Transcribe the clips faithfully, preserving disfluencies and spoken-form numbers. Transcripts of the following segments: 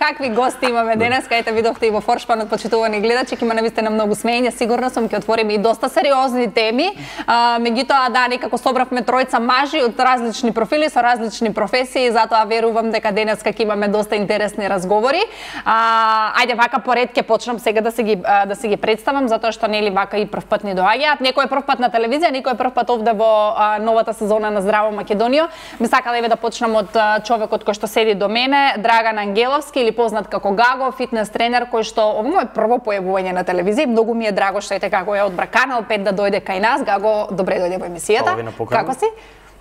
Какви гости имаме денес, кајте видовте и во форшпанот, почитувани гледачи, ќе има навистина многу смеење, сигурно сум ќе отвориме и доста сериозни теми. А, меѓутоа да, некако собравме тројца мажи од различни профили со различни професии, затоа верувам дека денес ќе имаме доста интересни разговори. А, ајде вака поред ќе почнам сега да се ги да се ги представам, затоа што нели вака и прв пат ни доаѓаат. Некој е прв пат на телевизија, некој е прв пат овде во а, новата сезона на Здраво Македонија. Ми сакала еве да почнам од а, човекот кој што седи до мене, Драган Ангеловски, или познат како Гаго, фитнес тренер, кој што ово му е прво појавување на телевизија. Многу ми е драго што ете како е одбра Канал пет да дојде кај нас. Гаго, добре дојде во емисијата. Како си?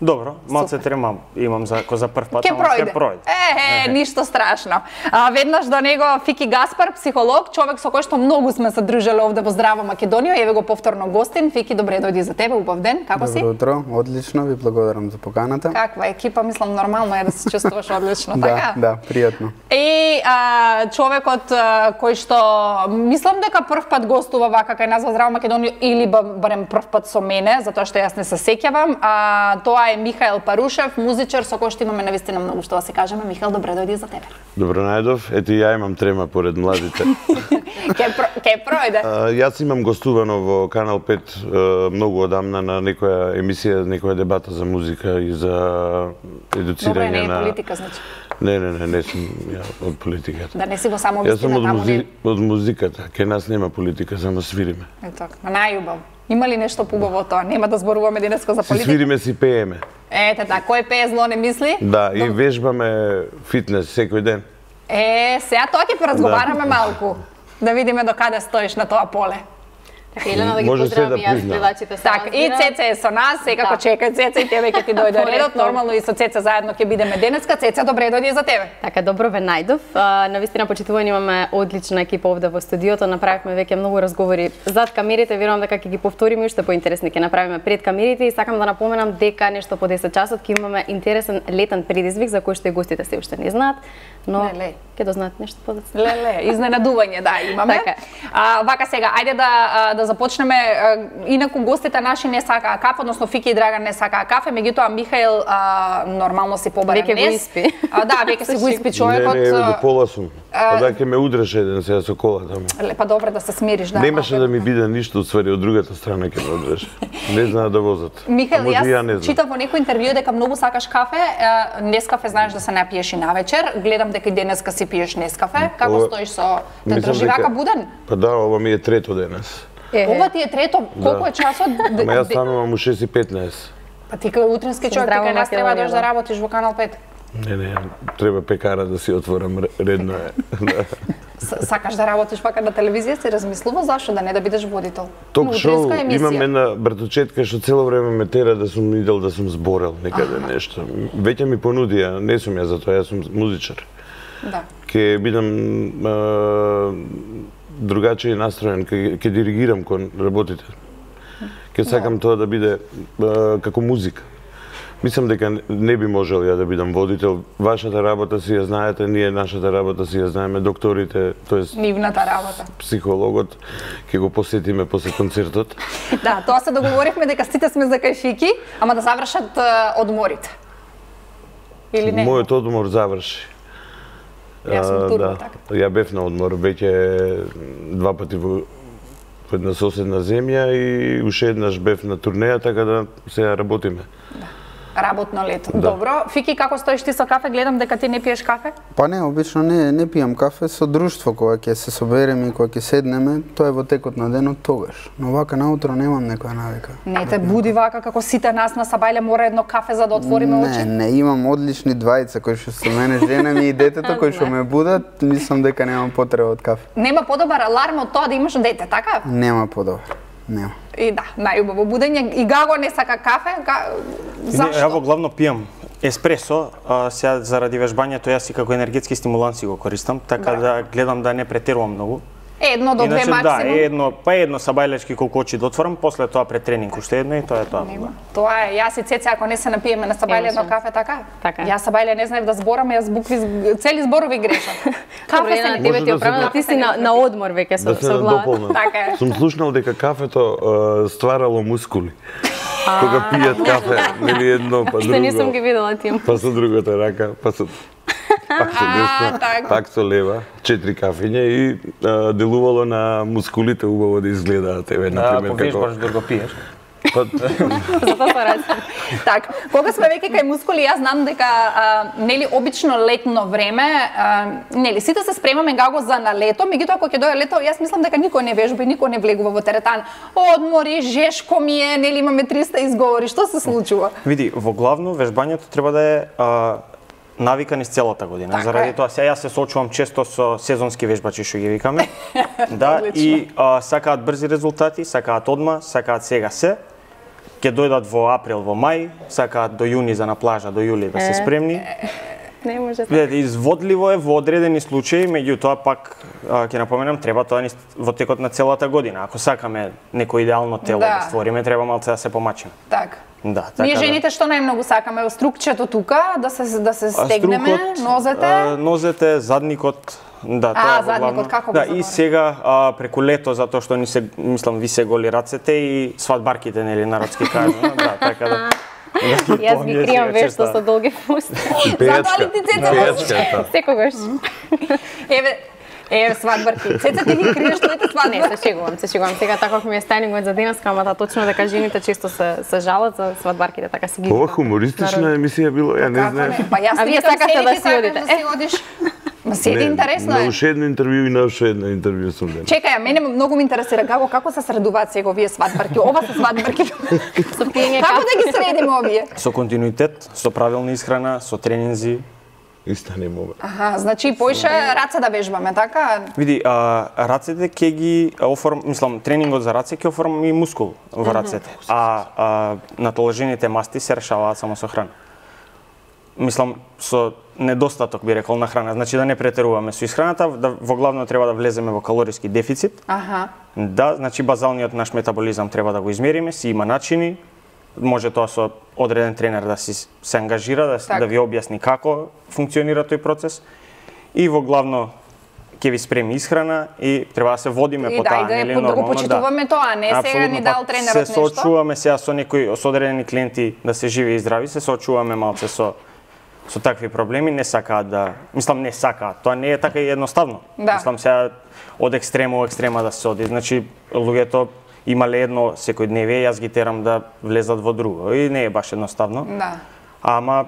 Добро, малце тремам, имам за ко за прв пат, ама ќе пројде. Е, е, ништо страшно. А, веднаш до него Фики Гаспар, психолог, човек со кој што многу сме се дружеле овде во Здраво Македонија. Еве го повторно гостин. Фики, добре дојди за тебе, убав ден. Како си? Добро утро, одлично, ви благодарам за поканата. Каква екипа, мислам нормално е да се чувствуваш одлично, да, така? Да, пријатно. И а, човекот а, кој што мислам дека прв пат гостува вака кај нас во Здраво Македонија или барем прв пат со мене, затоа што јас не се сеќавам, а тоа е Михаел Парушев, музичар со кој што имаме навистина многу што да се кажеме. Михаел, добре дојди за тебе. Добро најдов. Ето ја имам трема поред младите. Ке про, ке пројде. А, јас имам гостувано во Канал пет многу одамна на некоја емисија, некоја дебата за музика и за едуцирање на... Добре, не е политика, значи. Не, не, не, не сум ја од политиката. Да не си во само вистина таму. Јас сум од, музи... не... од музиката. Ке нас нема политика, само свириме. Ето, најубав. Има ли нешто поубаво тоа? Нема да зборуваме денеска за политика. Си свириме, си пееме. Ете така, кој пее зло не мисли? Да, и вежбаме фитнес секој ден. Е, сега тоа ќе поразговараме малку. Да видиме до каде стоиш на тоа поле. Елена, да ги поздравам и јас гледачите со нас. Така, и Цеце е со нас, секако чекај Цеце и тебе ќе ти дојде редот. Нормално и со Цеце заедно ќе бидеме денеска. Цеце, добре дојди за тебе. Така, добро ве најдов. Навистина почитувани имаме одлична екипа овде во студиото. Направивме веќе многу разговори зад камерите, верувам дека ќе ги повториме уште поинтересни ќе направиме пред камерите и сакам да напоменам дека нешто по десет часот ќе имаме интересен летен предизвик за кој што и гостите се уште не знаат, но ќе дознаат нешто подоцна. Леле, изненадување да имаме. Така. А, вака сега, ајде да да започнеме. Инаку гостите наши не сакаа кафе, односно Фики и Драган не сакаа кафе, меѓутоа Михаел а, нормално си побарен днес. Веќе го испи. А, да, веќе си го испи човекот. Не, не, до пола сум. Па да ќе ме удреше еден сега со кола таму. Па добре да се смириш, да. Немаше да ми биде ништо, отствари од другата страна ќе ме удреше. Не знаат да возат. Михаел, јас читав во некој интервју дека многу сакаш кафе, Нескафе знаеш да се напиеш и навечер. Гледам дека и денеска си пиеш Нескафе. Како ова... стоиш со те држи вака буден? Па да, ова ми е трето денес. Е. Ова ти е трето, колку да. Е часот? Ама јас станувам у шест и петнаесет. Па ти кај утрински човек, ти кај нас треба да да работиш во Канал пет. Не, не, треба пекара да си отворам, редно е. Сакаш да работиш вака на телевизија, си размислува зашо да не да бидеш водител? Ток шоу, имам една братучетка што цело време ме тера да сум идел да сум зборел некаде ага. Нешто. Веќе ми понудија, не сум ја за тоа, јас сум музичар. Да. Ке бидам а, другачај настроен, ке, ке диригирам кон работите. Ке сакам да. Тоа да биде а, како музика. Мислам дека не би можел ја да бидам водител. Вашата работа си ја знаете, ние нашата работа си ја знаеме, докторите, тоест нивната работа. Психологот, ќе го посетиме после концертот. Да, тоа се договоривме дека сите сме за кај Фики, ама да завршат uh, одморите. Или не? Мојот одмор заврши. Јас сум турбо, да. така. Ја бев на одмор веќе два пати во една соседна земја и уште еднаш бев на турнеја, така да сега работиме. Да. Работно лето. Да. Добро. Фики, како стоиш ти со кафе? Гледам дека ти не пиеш кафе? Па не, обично не, не пијам кафе со друштво, кога ќе се собереме и кога ќе седнеме, тоа е во текот на денот тогаш. Но вака наутро немам некоја навика. Не те буди вака како сите нас на Сабајле мора едно кафе за да отвориме очи? Не, не, имам одлични двајца кои што со мене, жена ми и детето кои што ме будат, мислам дека немам потреба од кафе. Нема подобар аларм од тоа да имаш дете, така? Нема подобар. Нема. И да, најубаво будење. И Гаго не сака кафе? Га... Зашто? Ја во главно пијам еспресо, а, сега заради вежбањето јас и како енергетски стимуланси го користам, така да гледам да не претерувам многу. Едно до две максимум. Да, едно, па едно сабајлечки колку очи да отворам, после тоа пред тренинг уште едно и тоа е тоа. Нема. Тоа е, јас и Цеце ако не се напиеме на Сабајле едно кафе, така? Така. Јас Сабајле не знаев да зборам, јас букви цели зборови грешам. Кафе се на тебе ти оправено, ти си на, на одмор веќе со, со глава. Така е. Сум слушнал дека кафето uh, стварало мускули. Кога пијат кафе, нели едно па друго. Што не сум ги видела тим. Па со другата рака, па со пак со десно, така. пак со лева, четири кафиња и а, делувало на мускулите убаво да изгледаат, еве, Да, например, ако вежбаш, друго пиеш. Па, Затоа се ради. Так, кога сме веќе кај мускули, јас знам дека а, нели обично летно време, а, нели сите се спремаме гаго за на лето, меѓутоа кога ќе дојде лето, јас мислам дека никој не вежба и никој не влегува во теретан. Одмори, жешко ми е, нели имаме триста изговори, што се случува? Види, во главно вежбањето треба да е а, навика низ целата година. Така Заради е. тоа сега јас се соочувам често со сезонски вежбачи што ги викаме. Да, Одлично. и а, сакаат брзи резултати, сакаат одма, сакаат сега се. Ќе дојдат во април, во мај, сакаат до јуни за на плажа, до јули да се спремни. Не може така. Видете, изводливо е во одредени случаи, меѓутоа пак а, ќе напоменам, треба тоа низ- во текот на целата година. Ако сакаме некој идеално тело Да. да, створиме, треба малце да се помачиме. Так. Да, така Ние да. жените што најмногу сакаме? Струкчето тука, да се да се А, стегнеме, струкот, нозете. а, нозете, задникот, да, тоа А, е во задникот, главно. како го Да, и заборав? сега а, преку лето затоа што ни се мислам ви се голи рацете и свадбарките нели народски кажано, да, така да. Јас ги кријам вешто со долги фусти. Затоа ли ти цеца пејачка е тоа. Секогаш. Еве, еве свадбарки. Цеца ти ги криеш твоите Не, свадбарки. се шегувам, се шегувам. Сега така ми е стајнингот за денеска, ама да точно дека жените често се се жалат за свадбарките, така си ги. ова викам. хумористична Народ. емисија било, ја не Како знаев. не? Па јас А ти вие викам, сакате седи, да ти си сакаш одите. да си одиш. Ма седи, интересно На е. уште едно интервју и на уште едно интервју сум ден. Чекај, а мене многу ме интересира како како се средуваат сега овие свадбарки. Ова се свадбарки. Со пиење Како кафе. да ги средиме овие? Со континуитет, со правилна исхрана, со тренинзи. И станем ова. Аха, значи поише раце да вежбаме, така? Види, а, рацете ќе ги оформ, мислам, тренингот за раце ќе оформи мускул во рацете, а, а натоложените масти се решаваат само со храна. Мислам, со недостаток би рекол на храна, значи да не претеруваме со исхраната, да во главно треба да влеземе во калориски дефицит. Аха. Да, значи базалниот наш метаболизам треба да го измериме, си има начини. Може тоа со одреден тренер да си се ангажира, да, Так. да ви објасни како функционира тој процес. И во главно ќе ви спреми исхрана и треба да се водиме И по да, таа, и да ја нели под- да го нормално, почитуваме тоа, а не сега Апсолутно, ни дал па, тренерот се нешто. соочуваме сега со некои со одредени клиенти да се живи и здрави, се соочуваме малце со со такви проблеми, не сакаат да, мислам не сакаат, тоа не е така и едноставно. Да. Мислам сега од екстрема во екстрема да се оди. Значи луѓето имале едно секојдневие, јас ги терам да влезат во друго и не е баш едноставно. Да. Ама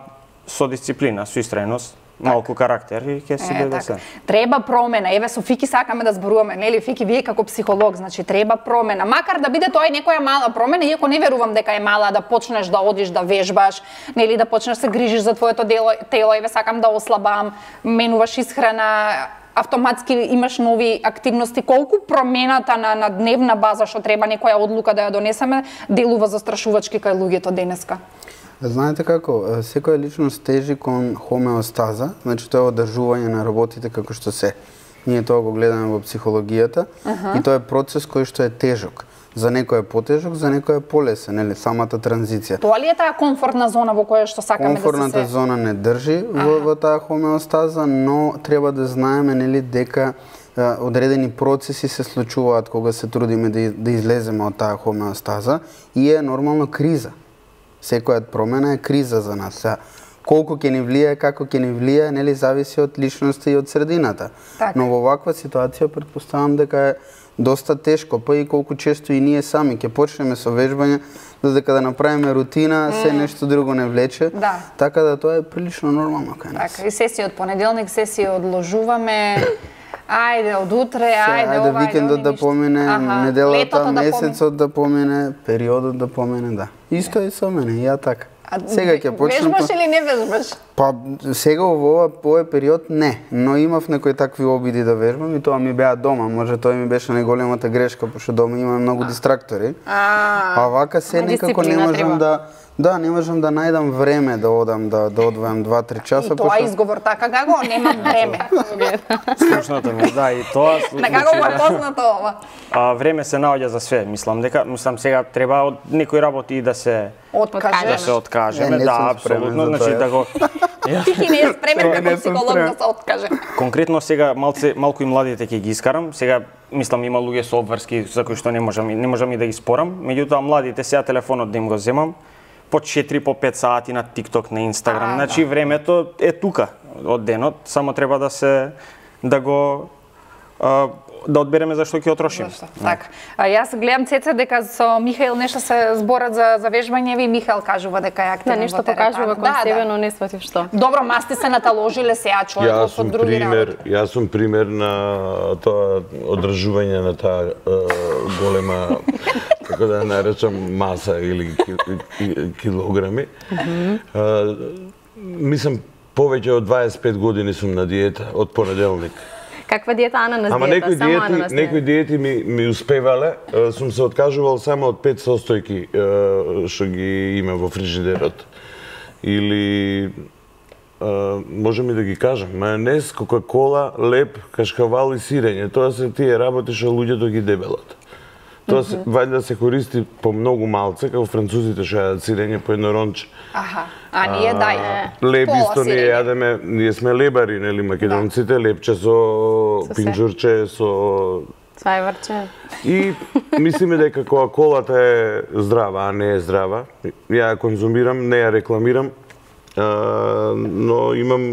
со дисциплина, со истрајност, малку карактер и ќе си Е, дојде така. се. Треба промена. Еве со Фики сакаме да зборуваме, нели Фики, вие како психолог, значи треба промена. Макар да биде тоа и некоја мала промена, иако не верувам дека е мала, да почнеш да одиш да вежбаш, нели да почнеш да се грижиш за твоето дело, тело, еве сакам да ослабам, менуваш исхрана, автоматски имаш нови активности. Колку промената на, на дневна база што треба некоја одлука да ја донесеме, делува застрашувачки кај луѓето денеска? Знаете како, секоја личност тежи кон хомеостаза, значи тоа е одржување на работите како што се. Ние тоа го гледаме во психологијата и тоа е процес кој што е тежок. За некој е потежок, за некој е полесен, нели, самата транзиција. Тоа ли е таа комфортна зона во која што сакаме Комфортната да се се... зона не држи во, во таа хомеостаза, но треба да знаеме нели дека а, одредени процеси се случуваат кога се трудиме да, да излеземе од таа хомеостаза и е нормално криза. Секоја промена е криза за нас. Сега, колку ќе ни влијае, како ќе ни влијае, нели зависи од личноста и од средината. Така. Но во ваква ситуација претпоставам дека е доста тешко, па и колку често и ние сами ќе почнеме со вежбање, додека да направиме рутина, се нешто друго не влече. Да. Така да тоа е прилично нормално кај нас. Така, и сесија од понеделник, сесија одложуваме. Ајде, од утре, Се, ајде, ајде ова, викендот ајде, да ништо. помине, Аха, неделата, летото да месецот да помине, периодот да помине, да. Исто е со мене, и ја така. А, Сега ќе почнем. Вежбаш или не вежбаш? Па сега во ова во овој период не, но имав некои такви обиди да вежбам и тоа ми беа дома, може тоа ми беше најголемата грешка, пошто дома има многу дистрактори. А, А вака се ама некако не дисциплина можам треба. да да, не можам да најдам време да одам да да одвојам два-три часа, и тоа е изговор така како немам време. Скучното ми, е, да, и тоа На како го е познато ова? а, време се наоѓа за све, мислам дека мислам сега треба од некои работи и да се Откажеш. да се откажеме, Е, не да, сум спремен апсолутно, за значи тоа. да го Ти не е спремен Не како сум психолог спремен. да се откаже. конкретно сега малце малку и младите ќе ги искарам. Сега мислам има луѓе со обврски за кои што не можам и- не можам и да ги спорам, меѓутоа младите сега телефонот да им го земам по четири по пет сати на TikTok, на Instagram. А, Значи времето е тука. од денот, само треба да се да го а, да одбереме за што ќе отрошиме. Така. А, јас гледам Цеце дека со Михаил нешто се зборат за за вежбање, ви Михаил кажува дека е активен. Да, нешто покажува кон себе, но не сватив што. Добро, масти се наталожиле сега човек од други пример, јас сум пример на тоа одржување на таа голема, како да наречам, маса или килограми. Мислам, повеќе од дваесет и пет години сум на диета од понеделник. Каква диета, Ана, на диета? Ама некои диети, некои диети ми, ми успевале. Сум се откажувал само од пет состојки што ги има во фрижидерот. Или можем и да ги кажам, мајонез, кока-кола, леп, кашкавал и сирење. Тоа се тие работи што луѓето ги дебелат. Тоа се, вајде се користи по многу малце, како французите што јадат сирење по едно ронче. Аха, а ние дај. Леб исто ние јадеме, ние сме лебари, нели, македонците, лепче со пинџурче, со цвајварче. И мислиме дека кока-колата е здрава, а не е здрава. Ја ја конзумирам, не ја рекламирам, но имам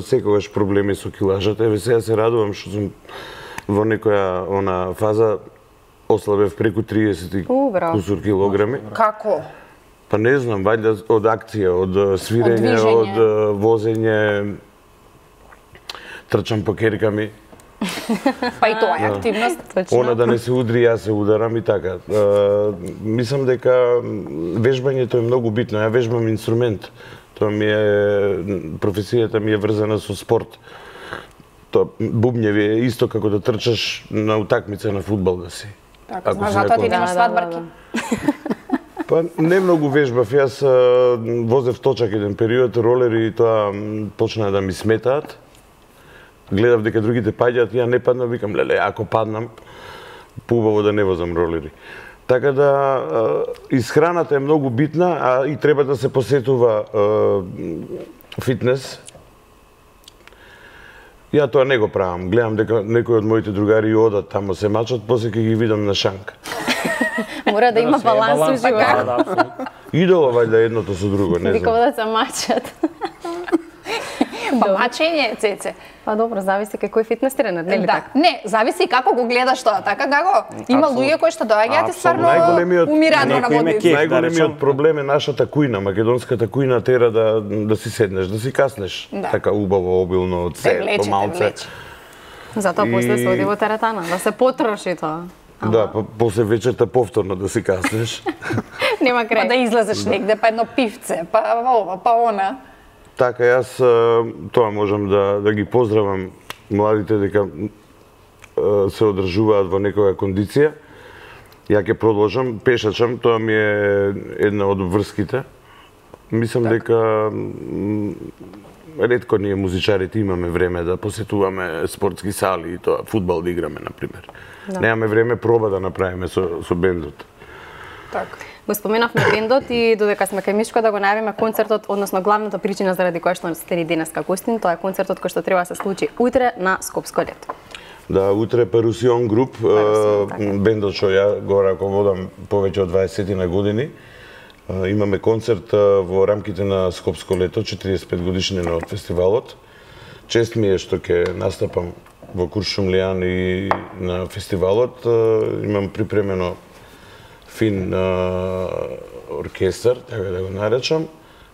секогаш проблеми со килажата. Еве сега се радувам што сум во некоја она фаза ослабев преку триесет кусур килограми. Како? Па не знам, вајде од акција, од свирење, од, од возење, трчам по керками. Па и тоа е активност. Она да не се удри, јас се ударам и така. Мислам дека вежбањето е многу битно. Ја вежбам инструмент. Тоа ми е, професијата ми е врзана со спорт. Тоа бубњеви е исто како да трчаш на утакмица на фудбал да си. Така, знаеш, затоа ти немаш свадбарки. Па не многу вежбав, јас возев точак еден период, ролери и тоа почнаа да ми сметаат. Гледав дека другите паѓаат, ја не паднав, викам, леле, ако паднам, поубаво да не возам ролери. Така да, исхраната е многу битна, а и треба да се посетува фитнес. Ја тоа не го правам. Гледам дека некои од моите другари одат тамо се мачат, после ќе ги видам на шанка. Мора да има баланс во животот. Идоло вајде едното со друго, не знам. Викаво да се мачат. Па мачење, Цеце. Па добро, зависи како е фитнес тренер, нели така? Не, зависи како го гледаш тоа, така како? Има луѓе кои што доаѓаат и стварно Најголемиот- умираат на водите. Најголемиот проблем е нашата кујна, македонската кујна тера да да си седнеш, да си каснеш. Така убаво, обилно, од се, помалце. Затоа после се оди во теретана, да се потроши тоа. Да, после вечерта повторно да си каснеш. Нема крај. Па да излезеш негде, па едно пивце, па ова, па она. Така, јас тоа можам да, да ги поздравам младите дека се одржуваат во некоја кондиција. Ја ќе продолжам, пешачам, тоа ми е една од врските. Мислам так. дека ретко ние музичарите имаме време да посетуваме спортски сали и тоа, фудбал да играме, например. Да. Немаме време проба да направиме со, со бендот. Така. Го споменавме бендот и додека сме кај Мишко да го најавиме концертот, односно главната причина заради која што сте ни денеска гостин, тоа е концертот кој што треба да се случи утре на Скопско лето. Да, утре Парусион груп, Парусион, така. Бендот што ја го раководам повеќе од дваесет на години. Имаме концерт во рамките на Скопско лето, четириесет и пет годишнина од фестивалот. Чест ми е што ќе настапам во Куршумлијан и на фестивалот. Имам припремено фин а, оркестар, така да го наречам,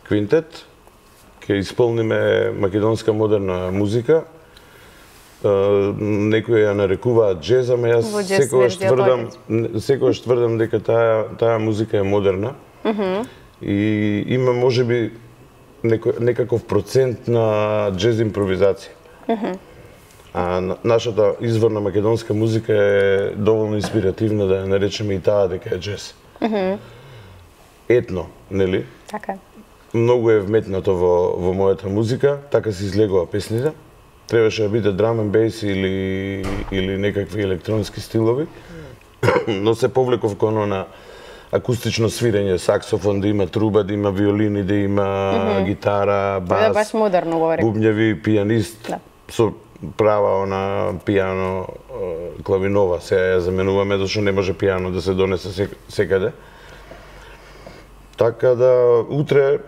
квинтет. Ќе исполниме македонска модерна музика. А, некои ја нарекуваат джез, ама јас секогаш тврдам, секогаш тврдам дека таа таа музика е модерна. Mm -hmm. И има можеби некаков процент на джез импровизација. Mm -hmm. А нашата изворна македонска музика е доволно инспиративна да ја наречеме и таа дека е джез. Mm -hmm. Етно, нели? Така. Многу е вметнато во, во мојата музика, така се излегува песните. Требаше да биде драм and bass или, или некакви електронски стилови, но се повлеков кон она акустично свирење, саксофон, да има труба, да има виолини, да има mm -hmm. гитара, бас, да, баш модерно говори. бубњеви, пијанист, да. Со права она пијано, клавинова, сега ја заменуваме, зашто не може пијано да се донесе секаде. Така да, утре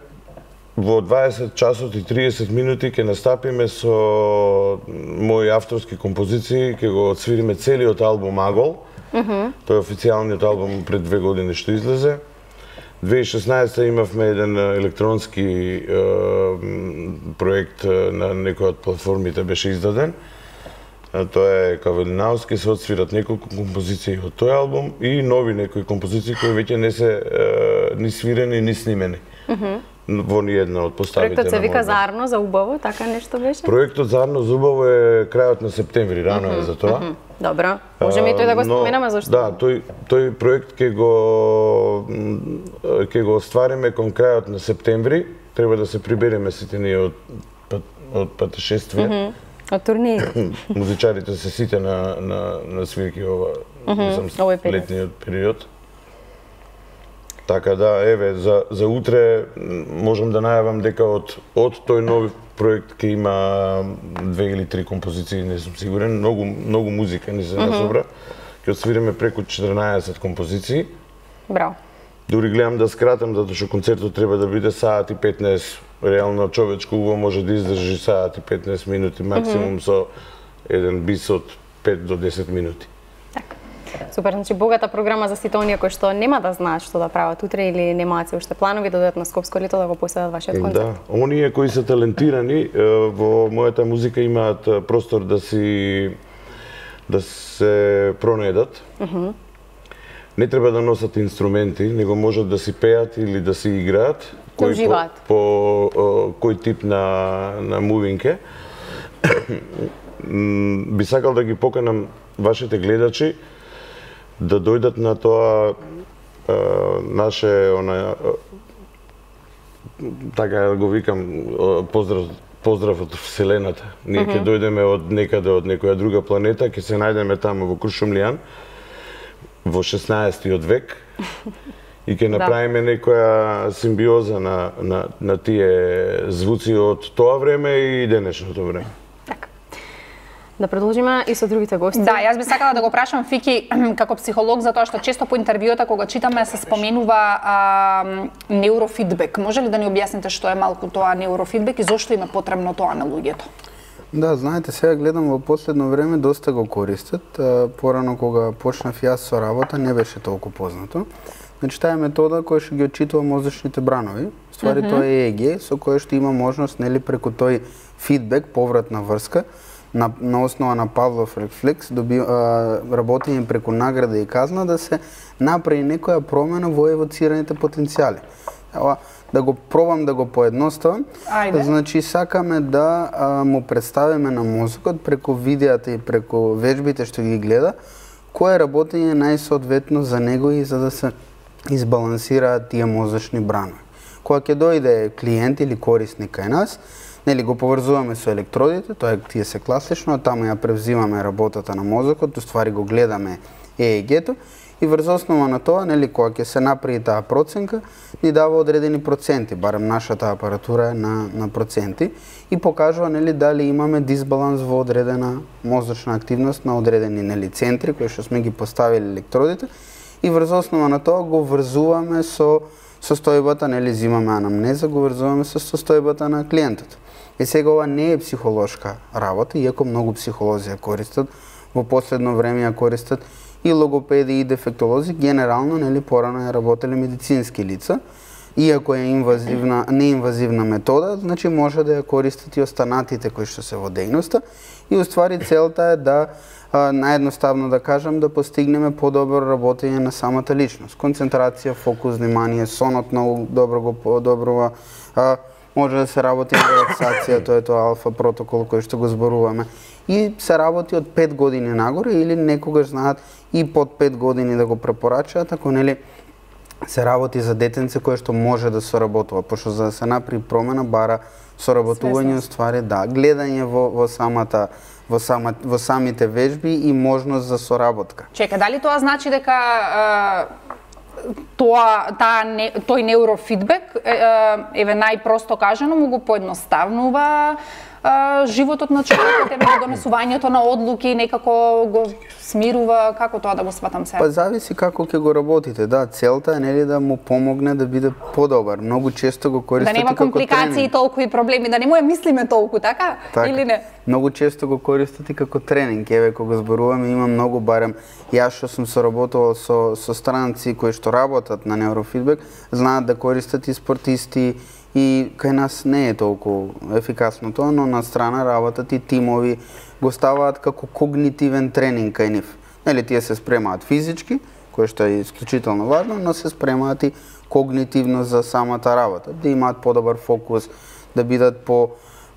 во дваесет часот и триесет минути ќе настапиме со мои авторски композиции, ќе го отсвириме целиот албум Агол. Mm -hmm. Тој е официјалниот албум пред две години што излезе. две илјади и шеснаесета имавме еден електронски е, проект на некоја од платформите беше издаден. Тоа е Кавелинауски, се отсвират неколку композиции од тој албум и нови некои композиции кои веќе не се е, ни свирени ни снимени. Mm -hmm. Во ни една од поставите. Проектот се вика Зарно за убаво, така нешто беше? Проектот Зарно за убаво е крајот на септември, рано mm -hmm. е за тоа. Mm -hmm. Добро, можеме и тој да го споменаме зашто? Да, тој тој проект ќе го ќе го оствариме кон крајот на септември. Треба да се прибереме сите ние од од патешествие. Mm -hmm. Од турнеи. Музичарите се сите на на на свирки ова mm -hmm. летниот период. Така да, еве, за, за утре можам да најавам дека од, од тој нов проект ќе има две или три композиции, не сум сигурен, многу, многу музика ни се насобра. Mm -hmm. Ќе освириме преку четрнаесет композиции. Браво. Дури гледам да скратам, затоа што концертот треба да биде саат и петнаесет. Реално човечко уво може да издржи саат и петнаесет минути, максимум mm -hmm. со еден бис од пет до десет минути. Така. Супер, значи богата програма за сите оние кои што нема да знаат што да прават утре или немаат се уште планови да додат на Скопско лето да го поседат вашиот концерт. Да, оние кои се талентирани во мојата музика имаат простор да си да се пронедат. Mm -hmm. Не треба да носат инструменти, него можат да си пеат или да си играат. Да уживаат. По, по кој тип на на мувинке. Би сакал да ги поканам вашите гледачи да дојдат на тоа е, наше она е, така го викам поздрав поздрав од вселената. Ние ќе mm -hmm. дојдеме од некаде од некоја друга планета, ќе се најдеме таму во Крушумлијан во шеснаесеттиот век и ќе направиме да. некоја симбиоза на на на тие звуци од тоа време и денешното време. Да продолжиме и со другите гости. Да, јас би сакала да го прашам Фики како психолог, затоа што често по интервјута кога читаме се споменува а, неурофидбек. Може ли да ни објасните што е малку тоа неурофидбек и зошто им е потребно тоа на луѓето? Да, знаете, сега гледам во последно време доста го користат. Порано кога почнав јас со работа не беше толку познато. Значи таа е метода која што ги отчитува мозочните бранови. Ствари mm -hmm. тоа е и е ге со кој што има можност нели преку тој фидбек, повратна врска, на, на основа на Павлов рефлекс, доби, а, работење преку награда и казна да се направи некоја промена во евоцираните потенцијали. Ова, да го пробам да го поедноставам. Ајде. Значи сакаме да а, му представиме на мозокот преку видеата и преку вежбите што ги гледа, кое работење е најсоодветно за него и за да се избалансираат тие мозочни бранови. Кога ќе дојде клиент или корисник кај нас, нели го поврзуваме со електродите, тоа е тие се класично, таму ја превзимаме работата на мозокот, уствари го гледаме е е ге-то и врз основа на тоа, нели кога ќе се направи таа проценка, ни дава одредени проценти, барем нашата апаратура е на на проценти и покажува нели дали имаме дисбаланс во одредена мозочна активност на одредени нели центри кои што сме ги поставили електродите и врз основа на тоа го врзуваме со состојбата, нели зимаме анамнеза, го врзуваме со состојбата на клиентот. И сега ова не е психолошка работа, иако многу психолози ја користат, во последно време ја користат и логопеди и дефектолози, генерално нели порано ја работеле медицински лица, иако е инвазивна, неинвазивна метода, значи може да ја користат и останатите кои што се во дејноста и уствари целта е да наједноставно да кажам да постигнеме подобро работење на самата личност. Концентрација, фокус, внимание, сонот многу добро го подобрува, а, може да се работи на релаксација, тоа е тоа алфа протокол кој што го зборуваме. И се работи од пет години нагоре или некогаш знаат и под пет години да го препорачаат, ако нели се работи за детенце кое што може да соработува, пошто за да се направи промена бара соработување, ствари да, гледање во во самата во сама во самите вежби и можност за соработка. Чека, дали тоа значи дека е, тоа таа не, тој неурофидбек е, еве најпросто кажано му го поедноставнува а, животот на човекот, еве донесувањето на одлуки некако го смирува, како тоа да го сватам се? Па зависи како ќе го работите. Да, целта е нели да му помогне да биде подобар. Многу често го користите како тренинг. Да нема компликации, толку и проблеми, да не му ја мислиме толку, така? така? Или не? Многу често го користите како тренинг. Еве кога зборуваме има многу, барем јас што сум соработувал со со странци кои што работат на неурофидбек, знаат да користат и спортисти, и кај нас не е толку ефикасно тоа, но на страна работат и тимови, го ставаат како когнитивен тренинг кај нив. Нели тие се спремаат физички, кое што е исклучително важно, но се спремаат и когнитивно за самата работа, да имаат подобар фокус, да бидат по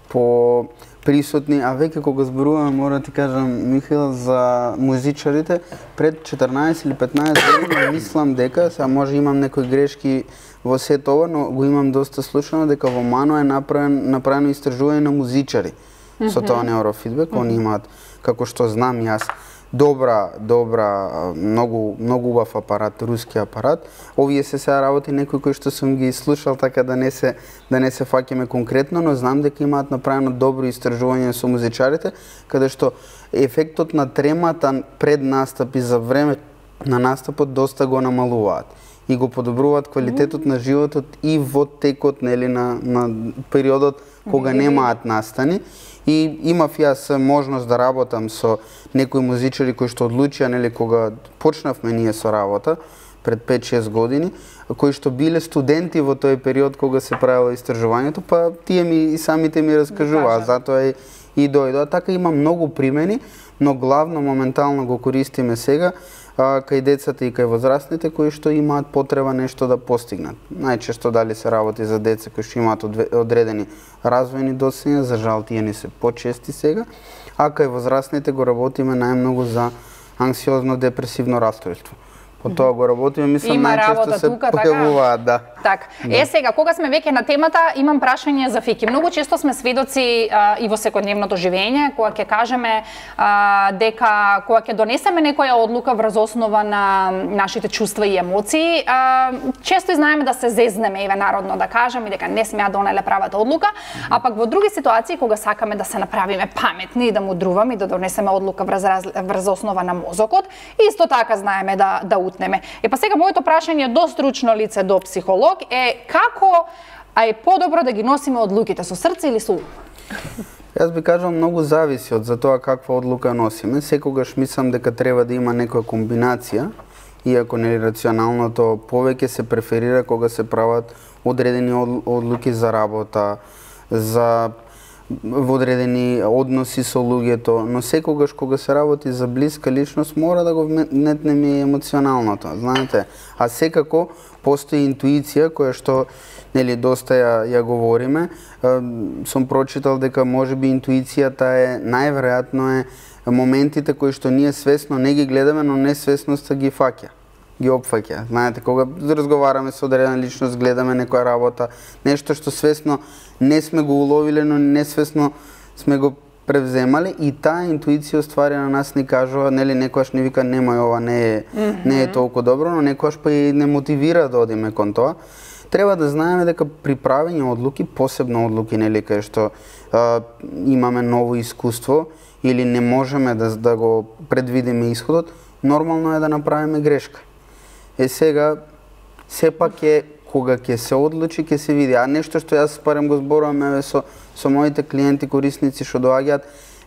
по присутни, а веќе кога зборуваме, мора да ти кажам, Михаил, за музичарите, пред четрнаесет или петнаесет години мислам дека, сега може имам некои грешки во сето ова, но го имам доста слушано, дека во МАНО е направен, направено истражување на музичари mm-hmm. со тоа неурофидбек. Mm-hmm. Они имаат, како што знам јас, добра, добра, многу, многу убав апарат, руски апарат. Овие се сега работи некои кои што сум ги слушал, така да не се да не се фаќаме конкретно, но знам дека имаат направено добро истражување со музичарите, каде што ефектот на тремата пред настап и за време на настапот доста го намалуваат и го подобруваат квалитетот на животот и во текот, нели, на на периодот кога немаат настани. И имав јас можност да работам со некои музичари кои што одлучија, нели, кога почнавме ние со работа пред пет-шест години, кои што биле студенти во тој период кога се правело истражувањето, па тие ми и самите ми раскажуваа, затоа и, и дојдоа. Така има многу примени, но главно моментално го користиме сега а, кај децата и кај возрастните кои што имаат потреба нешто да постигнат. Најчесто дали се работи за деца кои што имаат одредени развојни досења, за жал тие не се почести сега, а кај возрастните го работиме најмногу за анксиозно-депресивно расстройство. По тоа го работиме, мислам, најчесто се појавуваат, да. Так, да. Е сега, кога сме веќе на темата, имам прашање за Фики. Многу често сме сведоци а, и во секојдневното живење, кога ќе кажеме а, дека кога ќе донесеме некоја одлука врз основа на нашите чувства и емоции, а, често знаеме да се зезнеме, еве народно да кажеме, дека не сме ја донеле правата одлука, а пак во други ситуации кога сакаме да се направиме паметни и да мудруваме и да донесеме одлука врз, врз основа на мозокот, исто така знаеме да да утнеме. Е па сега моето прашање до стручно лице, до психолог е како а е подобро да ги носиме одлуките со срце или со ум? Јас би кажал многу зависи од за тоа каква одлука носиме. Секогаш мислам дека треба да има некоја комбинација, иако нели рационалното повеќе се преферира кога се прават одредени одлуки за работа, за во одредени односи со луѓето, но секогаш кога се работи за блиска личност мора да го вметнеме и емоционалното, знаете. А секако постои интуиција која што нели доста ја, ја говориме. Сум прочитал дека можеби интуицијата е најверојатно е моментите кои што ние свесно не ги гледаме, но несвесноста ги фаќа, ги опфаќа. Знаете, кога разговараме со одредена личност, гледаме некоја работа, нешто што свесно не сме го уловиле, но несвесно сме го превземале и таа интуиција ствари на нас ни кажува, нели некојаш ни вика немај ова, не е mm-hmm. не е толку добро, но некојаш па и не мотивира да одиме кон тоа. Треба да знаеме дека при правење одлуки, посебно одлуки, нели кај што а, имаме ново искуство или не можеме да да го предвидиме исходот, нормално е да направиме грешка. Е сега сепак е кога ќе се одлучи, ќе се види. А нешто што јас парем го зборувам еве со со моите клиенти, корисници што доаѓаат,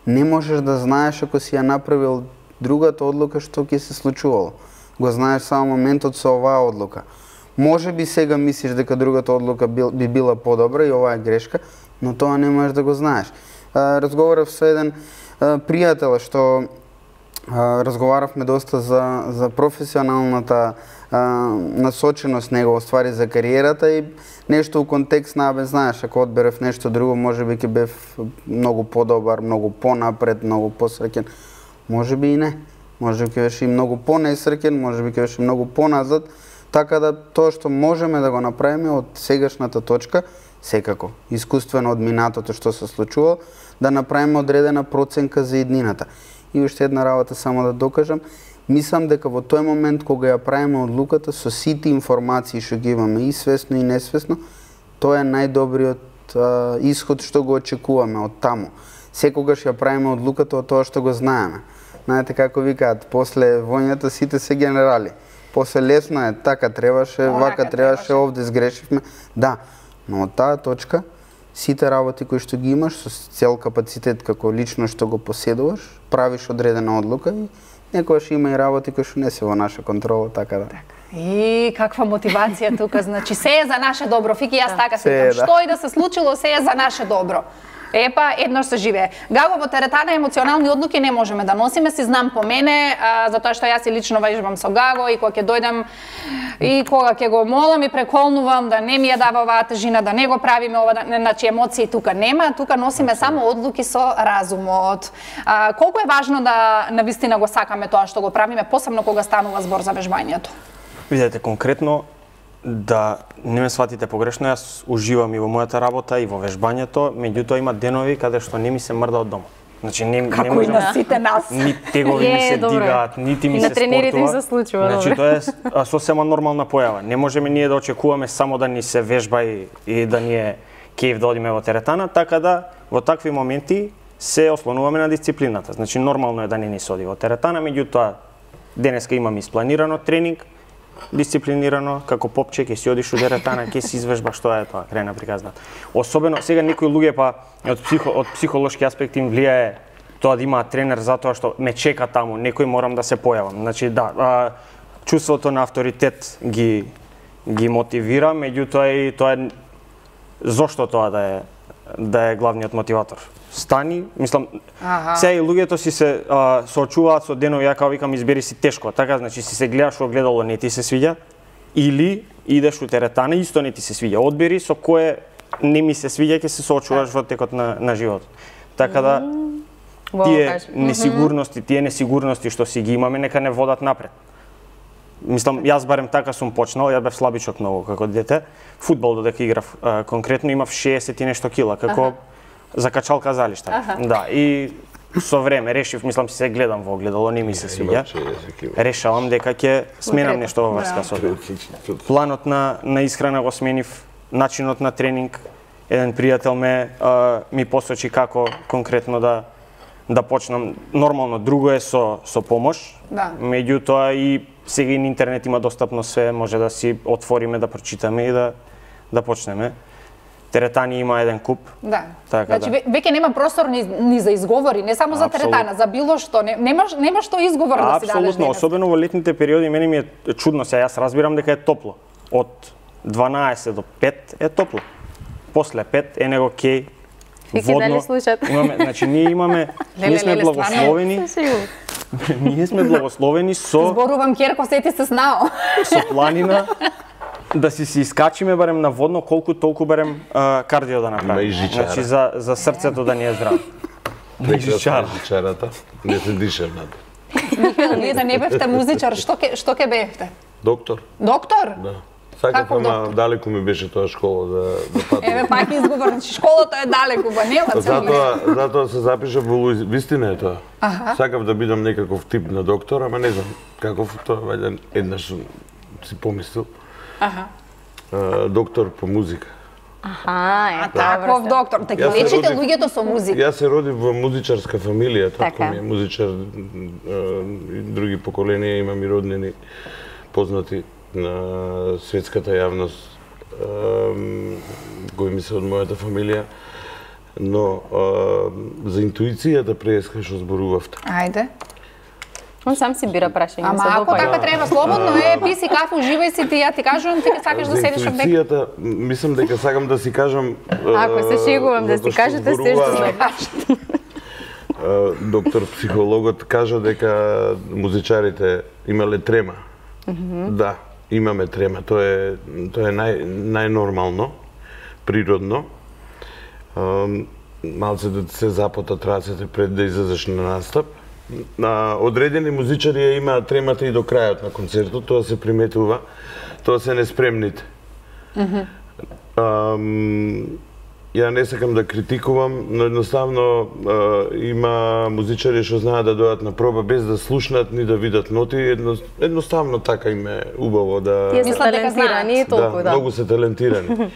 не можеш да знаеш ако си ја направил другата одлука што ќе се случувало. Го знаеш само моментот со оваа одлука. Може би сега мислиш дека другата одлука бил, би била подобра и оваа е грешка, но тоа не можеш да го знаеш. А, разговарав со еден а, пријател што а, разговаравме доста за за професионалната насоченост негова ствари за кариерата и нешто у контекст на, бе, знаеш, ако одберев нешто друго, може би ќе бев многу подобар, многу понапред, многу посреќен. Може би и не. Може би ќе беше и многу понесреќен, може би ќе беше многу поназад, така да тоа што можеме да го направиме од сегашната точка, секако, искуствено од минатото што се случува, да направиме одредена проценка за иднината. И уште една работа само да докажам, мислам дека во тој момент кога ја правиме одлуката со сите информации што ги имаме и свесно и несвесно, тоа е најдобриот а, исход што го очекуваме од таму. Секогаш ја правиме одлуката од тоа што го знаеме. Знаете како викаат, после војната сите се генерали. После лесно е, така требаше, Онака вака требаше, требаше. овде сгрешивме. Да, но од таа точка, сите работи кои што ги имаш со цел капацитет како лично што го поседуваш, правиш одредена одлука и некогаш има и работи кои што не се во наша контрола, така да. И каква мотивација тука, значи се е за наше добро. Фики, јас така се Се е, викам, да. што и да се случило, се е за наше добро. Епа, еднош се живее. Гаго, во теретана емоционални одлуки не можеме да носиме, си знам по мене, а, затоа што јас и лично вежбам со Гаго и кога ќе дојдам и кога ќе го молам и преколнувам да не ми ја дава оваа тежина, да не го правиме ова, да, значи емоции тука нема, тука носиме само одлуки со разумот. А, колку е важно да навистина го сакаме тоа што го правиме, посебно кога станува збор за вежбањето? Видете, конкретно, да не ме сватите погрешно, јас уживам и во мојата работа и во вежбањето, меѓутоа има денови каде што не ми се мрда од дома. Значи не, не Како и можам, на сите нас. ни тегови ми Е, се добро е. дигаат, нити ми И се на тренерите им спортува. се случува, Значи добро. тоа е а, сосема нормална појава. Не можеме ние да очекуваме само да ни се вежба и, и да ни е кејф да одиме во теретана, така да во такви моменти се ослонуваме на дисциплината. Значи нормално е да не ни се оди во теретана, меѓутоа денеска имам испланирано тренинг, дисциплинирано, како попче, ќе си одиш у теретана, ќе си извежбаш, тоа е тоа, крај на приказната. Особено сега некои луѓе па од психо, од психолошки аспект им влијае тоа да имаат тренер затоа што ме чека таму, некој морам да се појавам. Значи да, а, чувството на авторитет ги ги мотивира, меѓутоа и тоа е зошто тоа да е да е главниот мотиватор. Стани, мислам, Аха. сега и луѓето си се а, соочуваат со денови, ја како викам, избери си тешко, така, значи си се гледаш во огледало, не ти се свиѓа, или идеш у теретана, исто не ти се свиѓа. Одбери со кое не ми се свиѓа, ќе се соочуваш во текот на, на животот. Така да, Во, тие кажи. несигурности, тие несигурности што си ги имаме, нека не водат напред. Мислам, јас барем така сум почнал, ја бев слабичок многу како дете. Фудбал додека играв, а, конкретно имав шеесет и нешто кила, како Аха. закачалка залишта. Аха. Да, и со време решив, мислам, се гледам во огледало, не ми се свиѓа. Решавам дека ќе сменам Конкретно, нешто во врска со тоа. Планот на на исхрана го сменив, начинот на тренинг. Еден пријател ме а, ми посочи како конкретно да да почнам. Нормално друго е со со помош. Да. Меѓутоа и сега и на интернет има достапно све, може да си отвориме, да прочитаме и да да почнеме. Теретани има еден куп. Да. Така, значи да. ве- веќе нема простор ни, ни за изговори, не само за Апсолутно. теретана, за било што, не, нема нема што изговор да си дадеш Апсолутно, денес. особено во летните периоди, мене ми е чудно, сега јас разбирам дека е топло. Од дванаесет до пет е топло. После пет е него кеј, Фики, дали водно. слушат? Имаме, значи ние имаме, Леле, ние сме леле, благословени, ние сме благословени со Зборувам Керко, сети се знао. со планина да си се искачиме барем на водно, колку толку барем а, кардио да Има и направиме. жичара. Значи за за срцето да ни е здраво. Не жичара. Жичарата, не се дишам над. Вие да не бевте музичар, што ке што ке бевте? Доктор, Доктор? да. Сакав, Каков ама доктор? далеку ми беше тоа школа да, да патувам. Еве пак изговор, значи школата е далеку, ба нема цели. Затоа, затоа се запишав во Луиз... Вистина е тоа. Аха. Сакав да бидам некаков тип на доктор, ама не знам каков тоа, вајде еднаш сум си помислил. Аха. А, доктор по музика. Аха, е, Таков добро. доктор, да ги Јас се лечите родив- луѓето со музика. Јас се родив во музичарска фамилија, татко Така. ми е музичар, а, и други поколенија, имам и роднини познати на светската јавност, а, кои ми се од мојата фамилија, но а, за интуицијата преска што зборувавте. Ајде. Он сам си бира прашање. Ама се ако допаѓа. така треба слободно е, пи си кафе, уживај си ти, ја ти кажувам, ти сакаш да За седиш од дека. интуицијата, мислам дека сакам да си кажам... Ако се шегувам да затоа си што кажете се што зборува, знаеш. а, доктор психологот кажа дека музичарите имале трема. Да, имаме трема. Тоа е тоа е нај најнормално, природно. А, малце да се запотат рацете пред да излезеш на настап. На одредени музичари ја имаат тремата и до крајот на концертот, тоа се приметува. Тоа се неспремните. Ам, ја не сакам да критикувам, но едноставно а, има музичари што знаат да дојдат на проба без да слушнат ни да видат ноти, едно, едноставно така им е убаво да... Тие се Мислат дека талентирани и толку, да. многу се талентирани.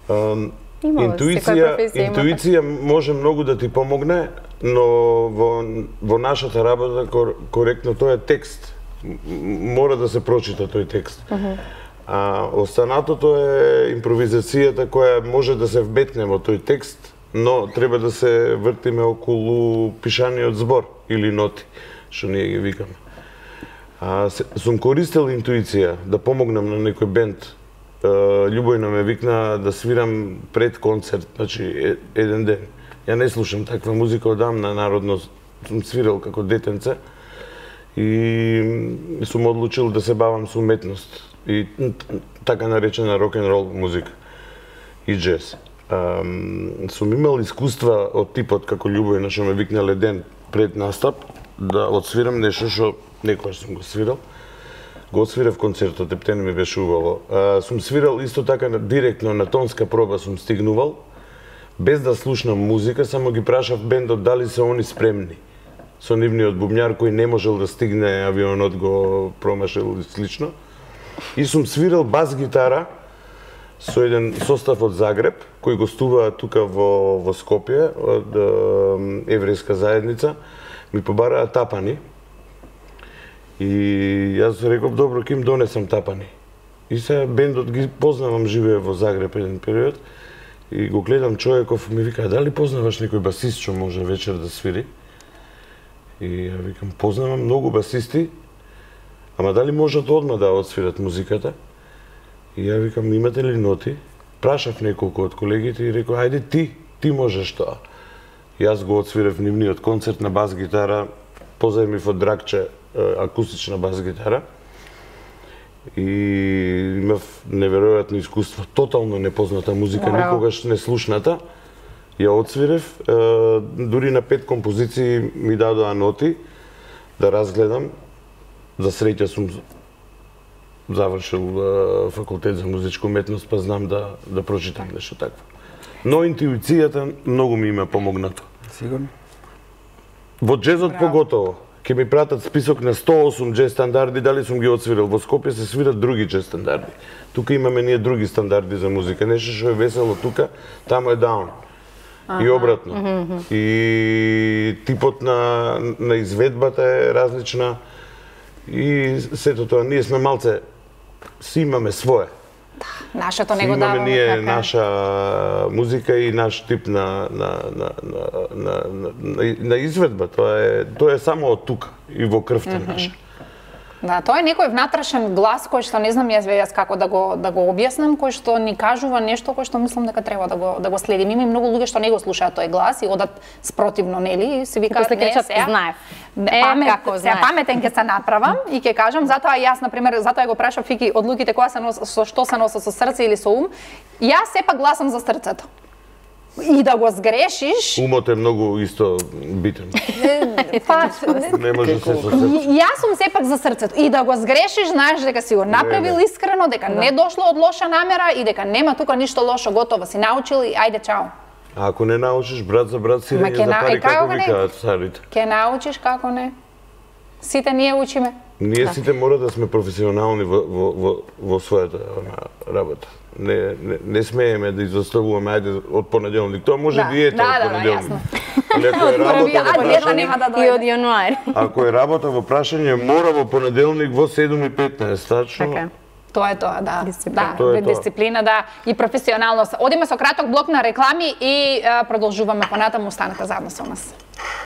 Ам, Има, интуиција, интуиција може многу да ти помогне, но во, во нашата работа кор, коректно тоа е текст. Мора да се прочита тој текст. Uh -huh. А останатото е импровизацијата која може да се вбетне во тој текст, но треба да се вртиме околу пишаниот збор или ноти, што ние ги викаме. А, се, сум користел интуиција да помогнам на некој бенд. Љубојна ме викна да свирам пред концерт, значи еден ден. Ја не слушам таква музика одамна, народно сум свирал како детенце и сум одлучил да се бавам со уметност и така наречена рок-н-рол музика и джез. Сум имал искуства од типот како Љубојна што ме викнале ден пред настап да отсвирам нешто што некогаш сум го свирал. Го отсвирав концертот, ептен ми беше убаво. Сум свирал исто така директно на тонска проба сум стигнувал, без да слушнам музика, само ги прашав бендот дали се они спремни. Со нивниот бубњар кој не можел да стигне, авионот го промашил и слично. И сум свирал бас гитара со еден состав од Загреб, кој гостува тука во, во Скопје, од еврејска заедница. Ми побараа тапани. И јас реков, добро, ќе им донесам тапани. И се бендот ги познавам, живее во Загреб еден период. И го гледам човеков, ми вика, дали познаваш некој басист што може вечер да свири? И ја викам, познавам многу басисти, ама дали можат одма да отсвират музиката? И ја викам, имате ли ноти? Прашав неколку од колегите и рекол, ајде ти, ти можеш тоа. И јас го отсвирав нивниот концерт на бас гитара, позајмив од Драгче акустична бас гитара. И имав неверојатно искуство, тотално непозната музика, wow. Никогаш не слушната. Ја отсвирев, дури на пет композиции ми дадоа ноти да разгледам. За среќа сум завршил факултет за музичка уметност, па знам да да прочитам нешто такво. Но интуицијата многу ми има помогнато. Сигурно. Во джезот поготово. Ке ми пратат список на сто и осум джез стандарди, дали сум ги отсвирал. Во Скопје се свират други джез стандарди. Тука имаме ние други стандарди за музика. Нешто што е весело тука, таму е даун. Ага. И обратно. Mm -hmm. И типот на, на изведбата е различна. И сето тоа, ние сме малце, си имаме свое. Да, нашето не го даваме. даваме. Ние така. наша музика и наш тип на, на, на, на, на, на, на изведба. Тоа е, тоа е само од тука и во крвта mm -hmm. наша. Да, тоа е некој внатрешен глас кој што не знам јас јас како да го да го објаснам, кој што ни кажува нешто кој што мислам дека треба да го да го следим. Има и многу луѓе што не го слушаат тој глас и одат спротивно, нели, и се викаат не се знаев. Памет, како знаев. Паметен ќе се направам и ќе кажам, затоа јас на пример, затоа го прашав Фики од луѓето која се носат со што се носат со срце или со ум. Јас сепак гласам за срцето. И да го сгрешиш... Умот е многу исто битен. Па, не може се со срце. Јас сум сепак за срцето. И да го сгрешиш, знаеш дека си го направил искрено, дека не дошло од лоша намера и дека нема тука ништо лошо, готово си научил и ајде чао. А ако не научиш брат за брат сирење за пари, како викаат царите? Ке научиш, како не. Сите ние учиме. Ние сите мора да сме професионални во, во, во, во својата работа. Не, не, не смееме да изоставуваме, ајде, од понеделник. Тоа може да, диета да, од понеделник. Да, Али ако е работа во прашање, и од јануари. Ако е работа во прашање, мора во понеделник во седум и петнаесет, тачно. Okay. Тоа е тоа, да. Дисциплина. Да, тоа е дисциплина, тоа. да, и професионалност. Одиме со краток блок на реклами и а, продолжуваме понатаму, останете заедно со нас.